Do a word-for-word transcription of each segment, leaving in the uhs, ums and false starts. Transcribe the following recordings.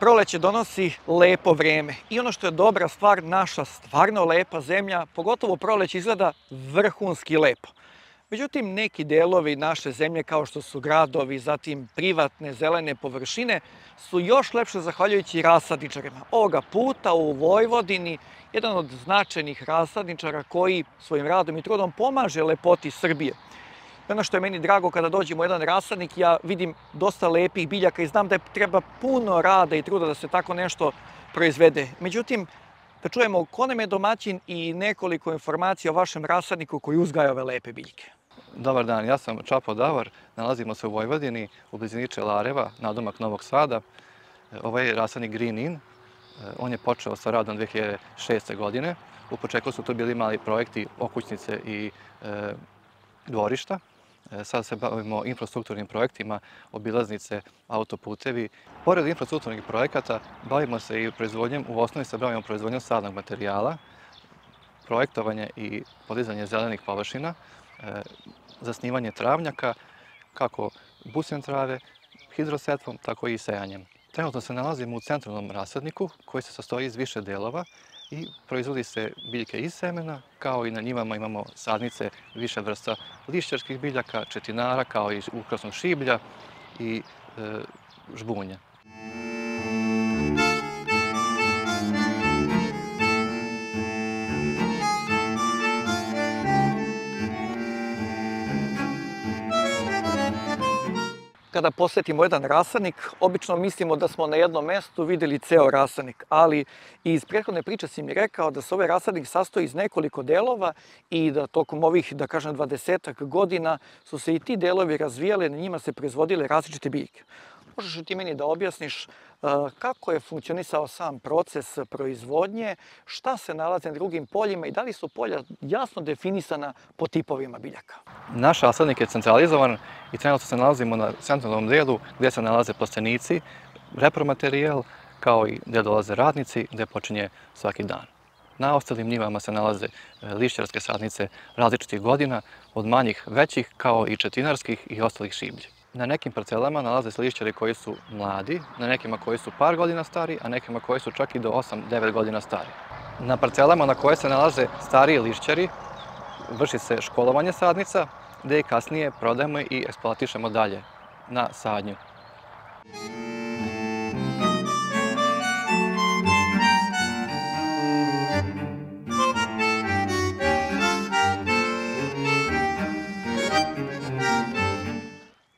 Proleće donosi lepo vreme i ono što je dobra stvar, naša stvarno lepa zemlja, pogotovo proleće izgleda vrhunski lepo. Međutim, neki delovi naše zemlje kao što su gradovi, zatim privatne zelene površine, su još lepše zahvaljujući rasadničarima. Ovoga puta u Vojvodini jedan od značajnih rasadničara koji svojim radom i trudom pomaže lepoti Srbije. I ono što je meni drago kada dođemo u jedan rasadnik, ja vidim dosta lepih biljaka i znam da je treba puno rada i truda da se tako nešto proizvede. Međutim, da čujemo ko nam je domaćin i nekoliko informacija o vašem rasadniku koji uzgaja ove lepe biljke. Dobar dan, ja sam Čapo Davar, nalazimo se u Vojvodini, u blizini Čelareva, nadomak Novog Sada. Ovaj rasadnik Green In, on je počeo sa radom dve hiljade šeste. godine. U početku su to bili mali projekti, okućnice i e, dvorišta. Sada se bavimo infrastrukturnim projektima, obilaznice, autoputevi. Pored infrastrukturnih projekata bavimo se i proizvodnjom, u osnovi se bavimo proizvodnjom sadnog materijala, projektovanje i podizanje zelenih površina, zasnivanje travnjaka, kako busjem trave, hidrosetvom, tako i sejanjem. Trenutno se nalazimo u centralnom rasadniku koji se sastoji iz više delova i proizvodi se biljke iz semena, kao i na njivama imamo sadnice više vrsta lišćarskih biljaka, četinara, kao i ukrasnog šiblja i e, žbunja. Kada posetimo jedan rasadnik, obično mislimo da smo na jednom mestu vidjeli ceo rasadnik, ali iz prethodne priče si mi rekao da se ovaj rasadnik sastoji iz nekoliko delova i da tokom ovih, da kažem, dvadesetak godina su se i ti delovi razvijali, na njima se proizvodile različite biljke. Možeš li ti meni da objasniš kako je funkcionisao sam proces proizvodnje, šta se nalazi na drugim poljima i da li su polja jasno definisana po tipovima biljaka? Naš rasadnik je centralizovan i trenutno se nalazimo na centralnom delu gdje se nalaze plastenici, repromaterijal, kao i gdje dolaze radnici, gdje počinje svaki dan. Na ostalim njivama se nalaze lišćarske sadnice različitih godina, od manjih, većih, kao i četinarskih i ostalih šiblji. Na nekim parcelama nalaze se lišćari koji su mladi, na nekima koji su par godina stari, a nekima koji su čak i do osam devet godina stari. Na parcelama na koje se nalaze stariji lišćari vrši se školovanje sadnica, gdje i kasnije prodajemo i eksploatišemo dalje na sadnju.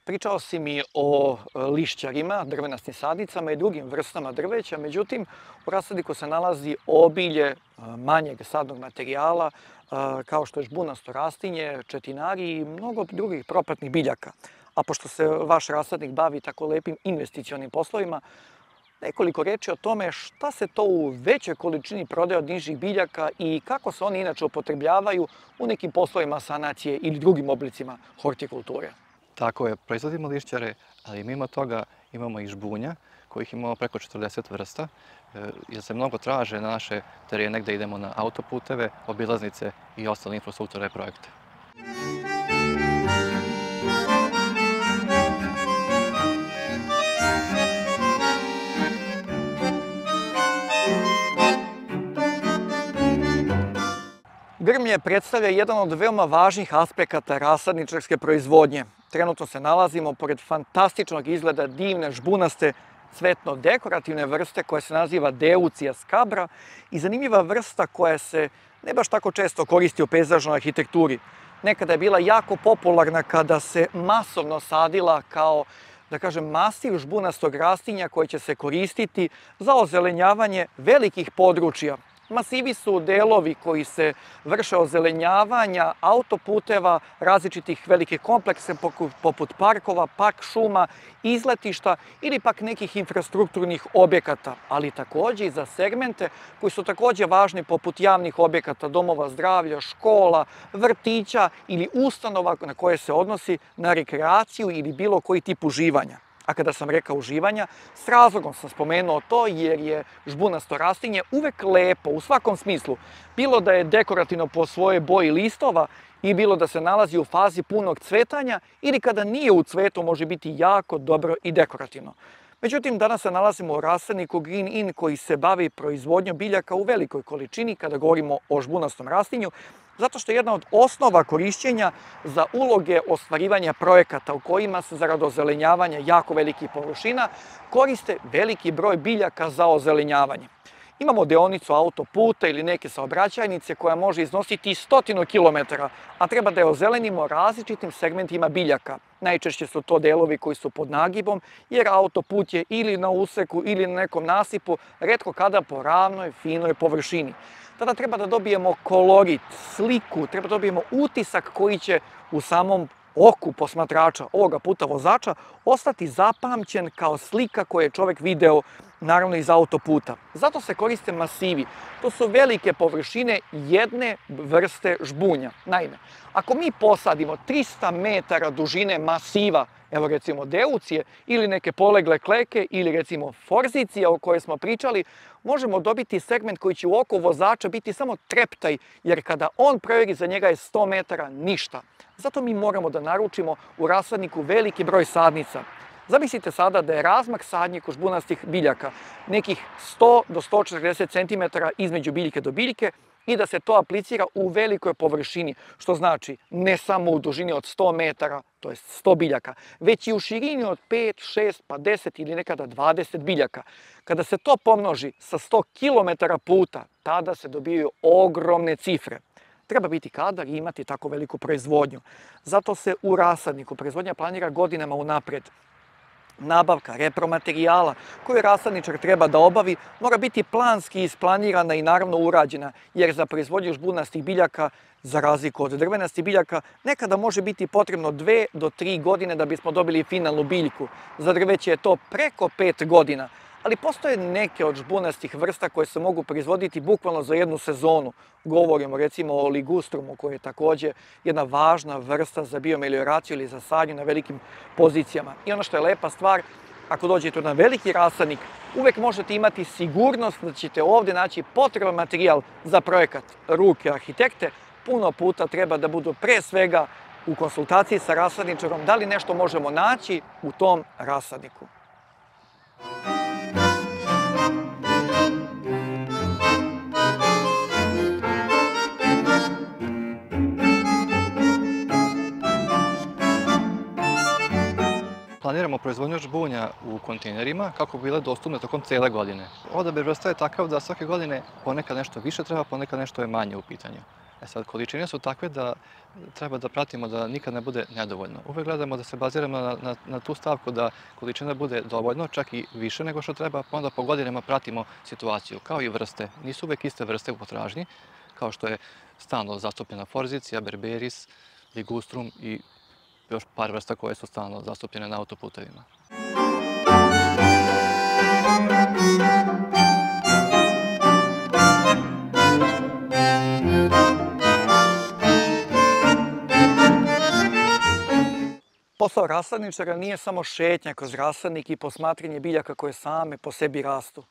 Pričao si mi o lišćarima, drvenastim sadnicama i drugim vrstama drveća, međutim u rasadniku se nalazi obilje manjeg sadnog materijala, kao što je žbunasto rastinje, četinari i mnogo drugih propratnih biljaka. A pošto se vaš rasadnik bavi tako lepim investicionim poslovima, nekoliko reči o tome šta se to u većoj količini prodaje od nižih biljaka i kako se oni inače upotrebljavaju u nekim poslovima sanacije ili drugim oblicima hortikulture. Tako je, proizvodimo lišćare, ali mimo toga imamo i žbunja, kojih imamo preko četrdeset vrsta, jer se mnogo traže na naše terene gdje idemo na autoputeve, obilaznice i ostale infrastrukturne projekte. Grmlje predstavlja jedan od veoma važnih aspekata rasadničarske proizvodnje. Trenutno se nalazimo pored fantastičnog izgleda divne žbunaste cvetno-dekorativne vrste koja se naziva Deutzia scabra i zanimljiva vrsta koja se ne baš tako često koristi u pejzažnoj arhitekturi. Nekada je bila jako popularna kada se masovno sadila kao, da kažem, masiv žbunastog rastinja koji će se koristiti za ozelenjavanje velikih područja. Masivi su delovi koji se vrše ozelenjavanja autoputeva, različitih velikih kompleksa poput parkova, park šuma, izletišta ili pak nekih infrastrukturnih objekata, ali također i za segmente koji su također važni poput javnih objekata, domova zdravlja, škola, vrtića ili ustanova na koje se odnosi na rekreaciju ili bilo koji tip uživanja. A kada sam rekao uživanja, s razlogom sam spomenuo to jer je žbunasto rastinje uvek lepo u svakom smislu. Bilo da je dekorativno po svojoj boji listova i bilo da se nalazi u fazi punog cvetanja ili kada nije u cvetu može biti jako dobro i dekorativno. Međutim, danas se nalazimo u rasadniku Green In koji se bavi proizvodnjom biljaka u velikoj količini kada govorimo o žbunastom rastinju, zato što je jedna od osnova korišćenja za uloge ostvarivanja projekata u kojima se zarad ozelenjavanja jako velikih površina koriste veliki broj biljaka za ozelenjavanje. Imamo deonicu autoputa ili neke saobraćajnice koja može iznositi stotinu kilometara, a treba da je ozelenimo različitim segmentima biljaka. Najčešće su to delovi koji su pod nagibom, jer autoput je ili na useku ili na nekom nasipu, retko kada po ravnoj, finoj površini. Tada treba da dobijemo kolorit, sliku, treba da dobijemo utisak koji će u samom oku posmatrača, ovoga puta vozača, ostati zapamćen kao slika koju je čovjek video, naravno iz autoputa. Zato se koriste masivi. To su velike površine jedne vrste žbunja. Naime, ako mi posadimo trista metara dužine masiva, evo recimo deutcije ili neke polegle kleke ili recimo forzicija o kojoj smo pričali, možemo dobiti segment koji će u oko vozača biti samo treptaj, jer kada on provjeri za njega je sto metara ništa. Zato mi moramo da naručimo u rasadniku veliki broj sadnica. Zamislite sada da je razmak sadnje žbunastih biljaka nekih sto do sto četrdeset centimetara između biljke do biljke i da se to aplicira u velikoj površini, što znači ne samo u dužini od sto metara, to je sto biljaka, već i u širini od pet, šest, pa deset ili nekada dvadeset biljaka. Kada se to pomnoži sa sto kilometara puta, tada se dobijaju ogromne cifre. Treba biti kadar i imati tako veliku proizvodnju. Zato se u rasadniku proizvodnja planira godinama unaprijed. Nabavka repromaterijala koju rasadničar treba da obavi mora biti planski isplanirana i naravno urađena, jer za proizvodnju žbunastih biljaka, za razliku od drvenastih biljaka, nekada može biti potrebno dve do tri godine da bismo dobili finalnu biljku. Za drveće je to preko pet godina. Ali postoje neke od žbunastih vrsta koje se mogu proizvoditi bukvalno za jednu sezonu. Govorimo recimo o ligustrumu, koji je također jedna važna vrsta za biomelioraciju ili za sadnju na velikim pozicijama. I ono što je lepa stvar, ako dođete na veliki rasadnik, uvek možete imati sigurnost da ćete ovdje naći potreban materijal za projekat. Ruke arhitekte puno puta treba da budu pre svega u konsultaciji sa rasadničarom da li nešto možemo naći u tom rasadniku. Planiramo proizvodnju žbunja u kontejnerima kako bi bile dostupne tokom cijele godine. Odabir vrsta je takav da svake godine ponekad nešto više treba, ponekad nešto je manje u pitanju. E sad, količine su takve da treba da pratimo da nikad ne bude nedovoljno. Uvek gledamo da se baziramo na, na, na tu stavku da količina bude dovoljno, čak i više nego što treba, pa onda po godinama pratimo situaciju, kao i vrste. Nisu uvek iste vrste u potražnji, kao što je stalno zastupljena forzicija, berberis, ligustrum i još par vrsta koje su stalno zastupljene na autoputevima. Posao rasadničara nije samo šetnja kroz rasadnik i posmatranje biljaka koje same po sebi rastu.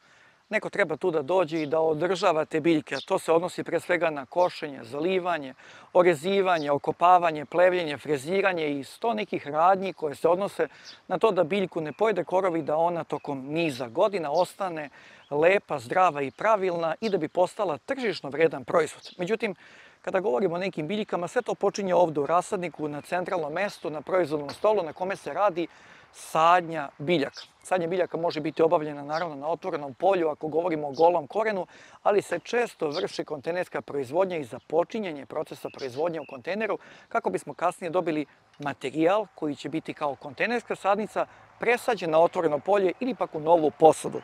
Neko treba tu da dođe i da održava te biljke, a to se odnosi pre svega na košenje, zalivanje, orezivanje, okopavanje, plevljenje, freziranje i sto nekih radnji koje se odnose na to da biljku ne pojede korov i da ona tokom niza godina ostane lepa, zdrava i pravilna i da bi postala tržišno vredan proizvod. Međutim, kada govorimo o nekim biljkama, sve to počinje ovdje u rasadniku, na centralnom mestu, na proizvodnom stolu na kome se radi sadnja biljaka. Sadnja biljaka može biti obavljena naravno na otvorenom polju ako govorimo o golom korenu, ali se često vrši kontejnerska proizvodnja i započinjanje procesa proizvodnje u kontejneru kako bismo kasnije dobili materijal koji će biti kao kontejnerska sadnica presađen na otvoreno polje ili pak u novu posudu.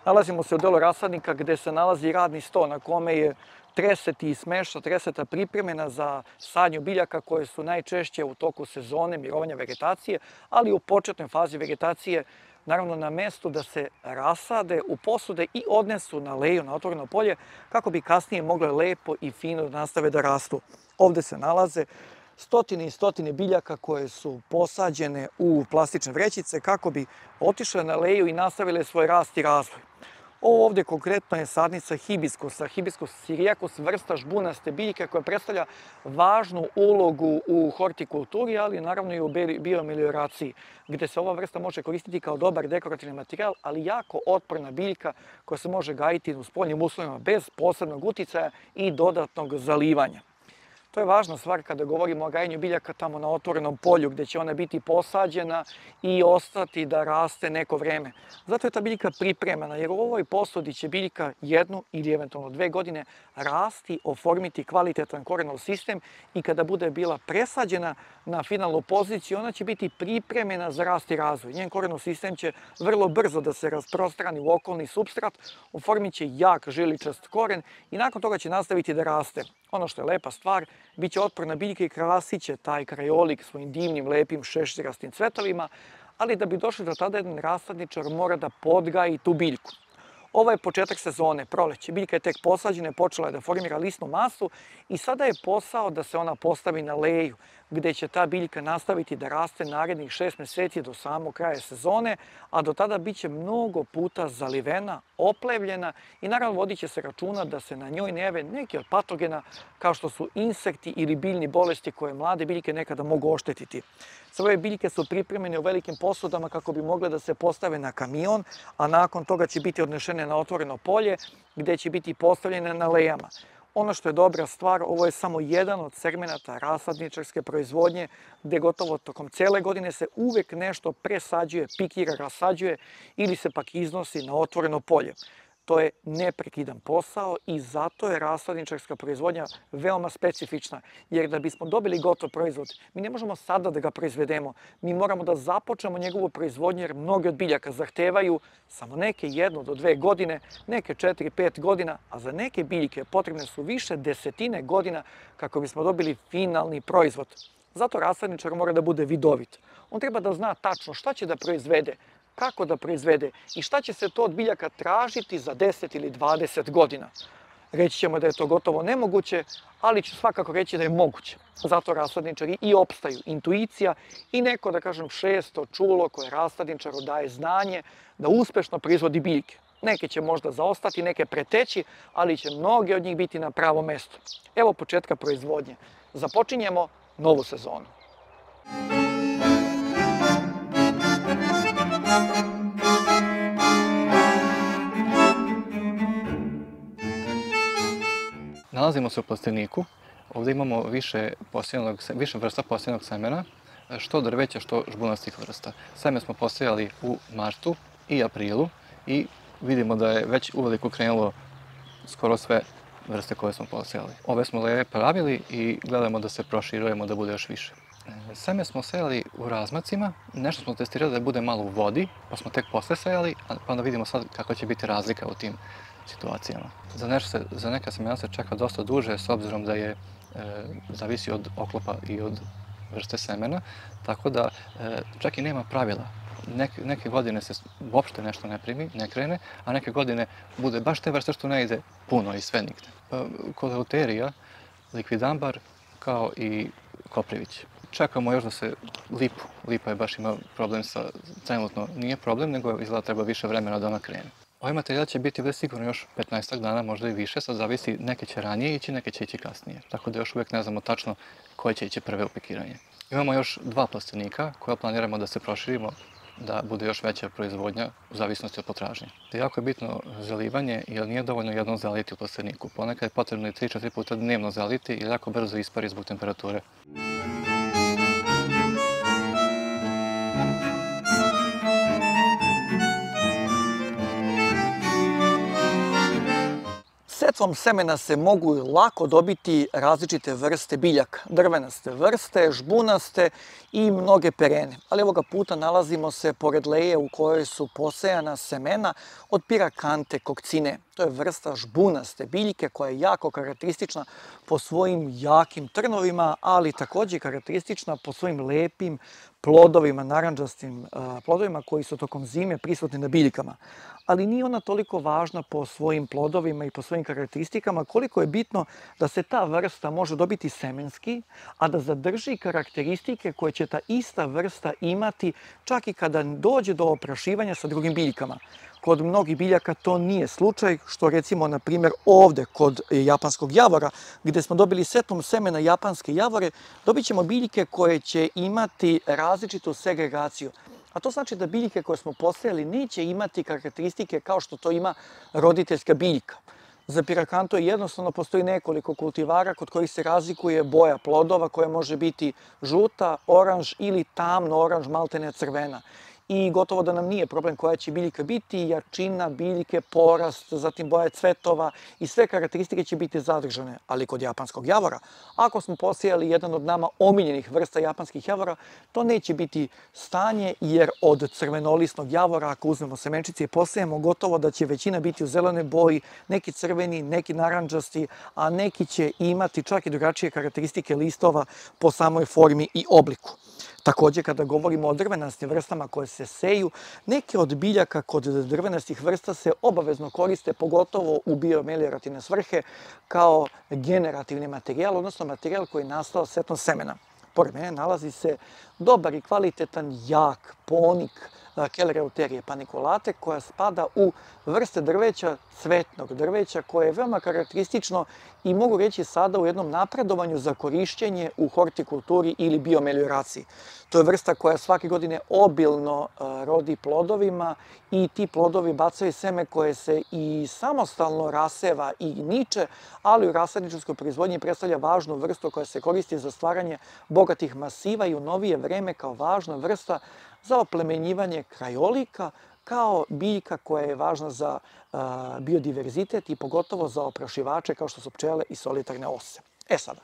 Nalazimo se u delu rasadnika gde se nalazi radni sto na kome je treseti i smešta, treseta pripremena za sadnju biljaka koje su najčešće u toku sezone mirovanja vegetacije, ali u početnoj fazi vegetacije naravno na mestu da se rasade u posude i odnesu na leju, na otvoreno polje, kako bi kasnije mogle lepo i fino da nastave da rastu. Ovde se nalaze stotine i stotine biljaka koje su posađene u plastične vrećice kako bi otišle na leju i nastavile svoj rast i razvoj. Ovo ovdje konkretno je sadnica hibiskusa. Hibiscus syriacus, vrsta žbunaste biljke koja predstavlja važnu ulogu u hortikulturi, ali naravno i u biomelioraciji, gdje se ova vrsta može koristiti kao dobar dekorativni materijal, ali jako otporna biljka koja se može gajiti u spoljnim uslovima bez posebnog uticaja i dodatnog zalivanja. To je važna stvar kada govorimo o gajenju biljaka tamo na otvorenom polju gdje će ona biti posađena i ostati da raste neko vreme. Zato je ta biljka pripremana jer u ovoj posudi će biljka jednu ili eventualno dve godine rasti, oformiti kvalitetan korenov sistem i kada bude bila presađena na finalnu poziciju ona će biti pripremljena za rast i razvoj. Njen korenov sistem će vrlo brzo da se rasprostrani u okolni supstrat, oformit će jak žiličast koren i nakon toga će nastaviti da raste. Ono što je lepa stvar, bit će otporna biljka i krasit će taj krajolik svojim divnim, lepim, šeširastim cvetovima, ali da bi došli do tada jedan rasadničar mora da podgaji tu biljku. Ovo je početak sezone, proleće. Biljka je tek posađena, počela je da formira lisnu masu i sada je posao da se ona postavi na leju, gdje će ta biljka nastaviti da raste narednih šest mjeseci do samog kraja sezone, a do tada bit će mnogo puta zalivena, oplevljena i naravno vodit će se računa da se na njoj ne jave neki od patogena kao što su insekti ili biljni bolesti koje mlade biljke nekada mogu oštetiti. Sve biljke su pripremljene u velikim posudama kako bi mogle da se postave na kamion, a nakon toga će biti odnešene na otvoreno polje gdje će biti postavljene na lejama. Ono što je dobra stvar, ovo je samo jedan od segmenata rasadničarske proizvodnje gdje gotovo tokom cijele godine se uvijek nešto presađuje, pikira, rasađuje ili se pak iznosi na otvoreno polje. To je neprekidan posao i zato je rasadničarska proizvodnja veoma specifična. Jer da bismo dobili gotov proizvod, mi ne možemo sada da ga proizvedemo. Mi moramo da započnemo njegovu proizvodnju jer mnoge od biljaka zahtevaju samo neke jednu do dve godine, neke četiri, pet godina, a za neke biljke potrebne su više desetine godina kako bismo dobili finalni proizvod. Zato rasadničar mora da bude vidovit. On treba da zna tačno šta će da proizvede, kako da proizvede i šta će se to od biljaka tražiti za deset ili dvadeset godina. Reći ćemo da je to gotovo nemoguće, ali ću svakako reći da je moguće. Zato rasadničari i opstaju. Intuicija i neko, da kažem, šesto čulo koje rasadničaru daje znanje da uspešno proizvodi biljke. Neke će možda zaostati, neke preteći, ali će mnoge od njih biti na pravom mestu. Evo početka proizvodnje. Započinjemo novu sezonu. Nalazimo se u plasteniku. Ovdje imamo više, više vrsta posjejanog semena, što drveća, što žbunastih vrsta. Seme smo posejali u martu i aprilu i vidimo da je već uveliko krenulo skoro sve vrste koje smo posejali. Ove smo leve pravili i gledamo da se proširujemo da bude još više. Seme smo sejali u razmacima, nešto smo testirali da bude malo u vodi, pa smo tek posle sejali, pa onda vidimo sad kakva će biti razlika u tim situacijama. Za, nešto se, za neka semena se čeka dosta duže, s obzirom da je, e, zavisi od oklopa i od vrste semena, tako da e, čak i nema pravila. Neke, neke godine se uopšte nešto ne primi, ne krene, a neke godine bude baš te vrste što ne ide puno i sve nigde. Pa, Koleoterija, likvidambar, kao i koprivić. Čekamo još da se lipu. Lipa je baš ima problem sa, trenutno nije problem, nego izgleda treba više vremena da ona krene. Ovaj materijal će biti već sigurno još petnaestak dana, možda i više, sad zavisi, neke će ranije ići, neke će ići kasnije. Tako da još uvijek ne znamo tačno koje će ići prve u pikiranje. Imamo još dva plastenika koja planiramo da se proširimo, da bude još veća proizvodnja u zavisnosti od potražnje. Jako je bitno zalivanje jer nije dovoljno jednom zaliti u plasteniku. Ponekad je potrebno i tri do četiri puta dnevno zaliti jer jako brzo ispari zbog temperature. Setvom semena se mogu lako dobiti različite vrste biljaka, drvenaste vrste, žbunaste i mnoge perene. Ali ovoga puta nalazimo se pored leje u kojoj su posejana semena od Pyracanthe coccinae. To je vrsta žbunaste biljke koja je jako karakteristična po svojim jakim trnovima, ali također karakteristična po svojim lepim plodovima, narandžastim plodovima koji su tokom zime prisutni na biljkama. Ali nije ona toliko važna po svojim plodovima i po svojim karakteristikama koliko je bitno da se ta vrsta može dobiti semenski, a da zadrži karakteristike koje će ta ista vrsta imati čak i kada dođe do oprašivanja sa drugim biljkama. kod mnogih biljaka to nije slučaj, što recimo, na primjer, ovde kod japanskog javora, gde smo dobili setom semena japanske javore, dobit ćemo biljke koje će imati različitu segregaciju. A to znači da biljke koje smo posejali neće imati karakteristike kao što to ima roditeljska biljka. Za pirakanto jednostavno postoji nekoliko kultivara kod kojih se razlikuje boja plodova koja može biti žuta, oranž ili tamno oranž, maltene crvena. I gotovo da nam nije problem koja će biljka biti, jačina biljke, porast, zatim boje cvetova i sve karakteristike će biti zadržane. Ali kod japanskog javora, ako smo posejali jedan od nama omiljenih vrsta japanskih javora, to neće biti stanje, jer od crvenolisnog javora, ako uzmemo semenčice i posejemo, gotovo da će većina biti u zelenoj boji, neki crveni, neki narandžasti, a neki će imati čak i drugačije karakteristike listova po samoj formi i obliku. Takođe, kada govorimo o drvenastim vrstama koje se seju, neke od biljaka kod drvenastih vrsta se obavezno koriste, pogotovo u biomeliorativne svrhe, kao generativni materijal, odnosno materijal koji je nastao setom semena. Pored mene nalazi se dobar i kvalitetan jak ponik Kellereuterije paniculate, koja spada u vrste drveća, cvetnog drveća, koje je veoma karakteristično i mogu reći sada u jednom napredovanju za korišćenje u hortikulturi ili biomelioraciji. To je vrsta koja svake godine obilno rodi plodovima i ti plodovi bacaju seme koje se i samostalno raseva i niče, ali u rasadničarskoj proizvodnji predstavlja važnu vrstu koja se koristi za stvaranje bogatih masiva i u novije vreme kao važna vrsta za oplemenjivanje krajolika, kao biljka koja je važna za biodiverzitet i pogotovo za oprašivače kao što su pčele i solitarne ose. E sada,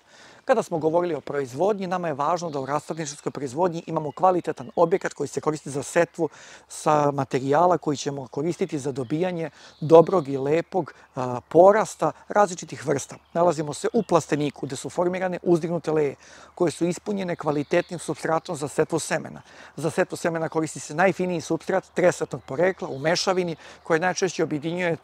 kada smo govorili o proizvodnji, nama je važno da u rasadničarskoj proizvodnji imamo kvalitetan objekat koji se koristi za setvu sa materijala koji ćemo koristiti za dobijanje dobrog i lepog porasta različitih vrsta. Nalazimo se u plasteniku gde su formirane uzdignute leje koje su ispunjene kvalitetnim supstratom za setvu semena. Za setvu semena koristi se najfiniji supstrat tresetnog porekla u mešavini koji najčešće objedinjuje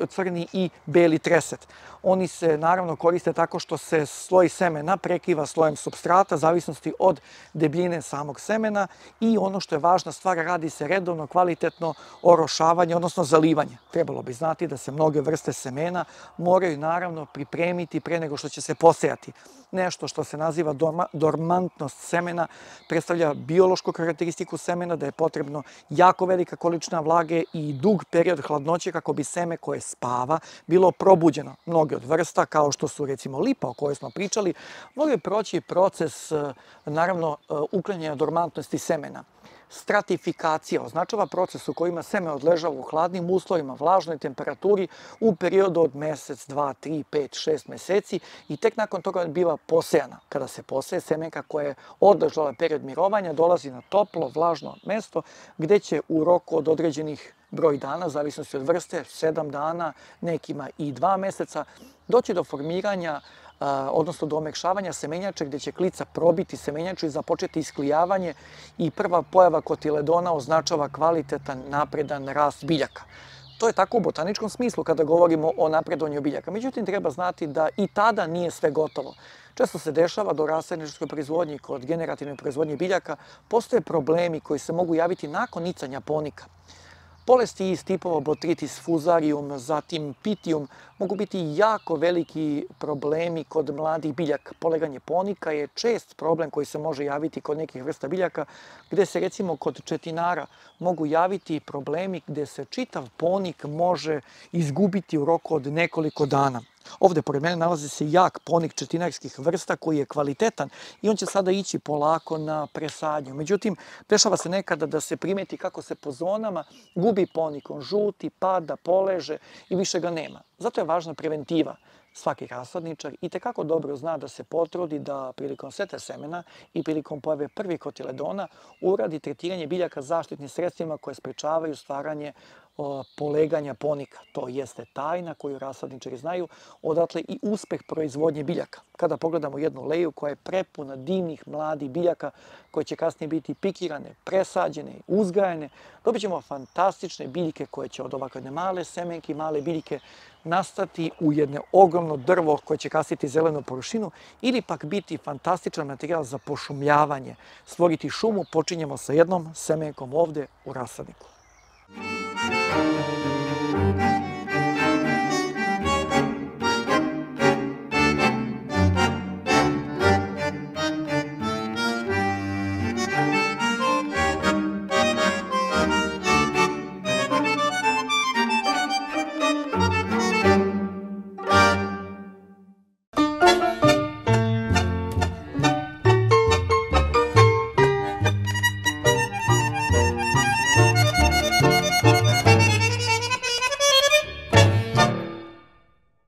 crni i beli treset. Oni se naravno koriste tako što se sloj semena prekiva slojem supstrata, zavisnosti od debljine samog semena, i ono što je važna stvar, radi se redovno kvalitetno orošavanje, odnosno zalivanje. Trebalo bi znati da se mnoge vrste semena moraju naravno pripremiti pre nego što će se posejati. Nešto što se naziva dormantnost semena predstavlja biološku karakteristiku semena, da je potrebno jako velika količina vlage i dug period hladnoće kako bi seme koje spava bilo probuđeno. Mnoge od vrsta, kao što su recimo lipa o kojoj smo pričali, mogli proći proces, naravno, uklanjanja dormantnosti semena. Stratifikacija označava proces u kojima seme odležava u hladnim uslovima, vlažnoj temperaturi u periodu od mesec, dva, tri, pet, šest meseci i tek nakon toga biva posejana. Kada se poseje, semenka koja je odležala period mirovanja dolazi na toplo, vlažno mesto gde će u roku od određenih broj dana, zavisnosti od vrste, sedam dana, nekima i dva meseca, doći do formiranja, odnosno do omekšavanja semenjače gde će klica probiti semenjaču i započeti isklijavanje, i prva pojava kotiledona označava kvalitetan, napredan rast biljaka. To je tako u botaničkom smislu kada govorimo o napredovanju biljaka. Međutim, treba znati da i tada nije sve gotovo. Često se dešava da u rasadničarskoj proizvodnji, kod generativne proizvodnje biljaka, postoje problemi koji se mogu javiti nakon nicanja ponika. Bolesti iz tipova Botrytis fusarium, zatim Pythium, mogu biti jako veliki problemi kod mladih biljaka. Poleganje ponika je čest problem koji se može javiti kod nekih vrsta biljaka, gde se recimo kod četinara mogu javiti problemi gde se čitav ponik može izgubiti u roku od nekoliko dana. Ovde pored mene nalazi se jak ponik četinarskih vrsta koji je kvalitetan i on će sada ići polako na presadnju. Međutim, dešava se nekada da se primeti kako se po zonama gubi ponik, on žuti, pada, poleže i više ga nema. Zato je važna preventiva. Svaki rasadničar itekako dobro zna da se potrudi da prilikom setve semena i prilikom pojave prvih kotiledona uradi tretiranje biljaka zaštitnim sredstvima koje sprečavaju stvaranje poleganja ponika. To jeste tajna koju rasadničari znaju, odatle i uspeh proizvodnje biljaka. Kada pogledamo jednu leju koja je prepuna divnih mladih biljaka koje će kasnije biti pikirane, presađene, uzgajane, dobit ćemo fantastične biljke koje će od ovakve male semenke i male biljke nastati u jedno ogromno drvo koje će kasiti zelenu površinu ili pak biti fantastičan materijal za pošumljavanje. Stvoriti šumu počinjemo sa jednom semenkom ovde u rasadniku. Ćao!